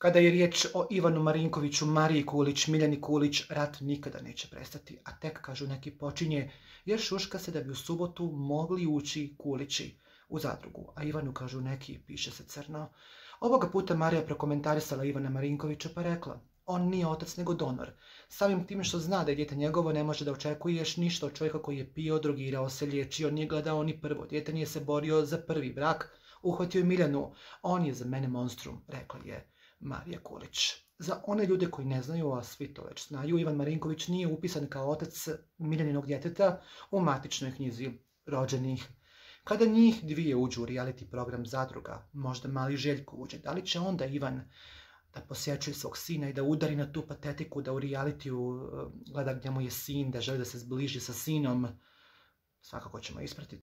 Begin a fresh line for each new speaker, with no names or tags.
Kada je riječ o Ivanu Marinkoviću, Mariji Kulić, Miljani Kulić, rat nikada neće prestati, a tek, kažu neki, počinje, jer šuška se da bi u subotu mogli ući Kulići u zadrugu, a Ivanu, kažu neki, piše se crno. Ovoga puta Marija prokomentarisala Ivana Marinkovića pa rekla: on nije otac nego donor. Samim tim što zna da je dijete njegovo, ne može da očekuješ ništa od čovjeka koji je pio, drogirao se, liječio, nije gledao ni prvo dijete, nije se borio za prvi brak, uhvatio je Miljanu. On je za mene monstrum, rekla je Marija Kulić. Za one ljude koji ne znaju, a svi to već znaju, Ivan Marinković nije upisan kao otac Miljaninog djeteta u matičnoj knjizi rođenih. Kada njih dvije uđu u reality program Zadruga, možda mali Željko uđe, da li će onda Ivan da posjećuje svog sina i da udari na tu patetiku, da u realitiju gleda gdje mu je sin, da želi da se zbliži sa sinom? Svakako ćemo ispratiti.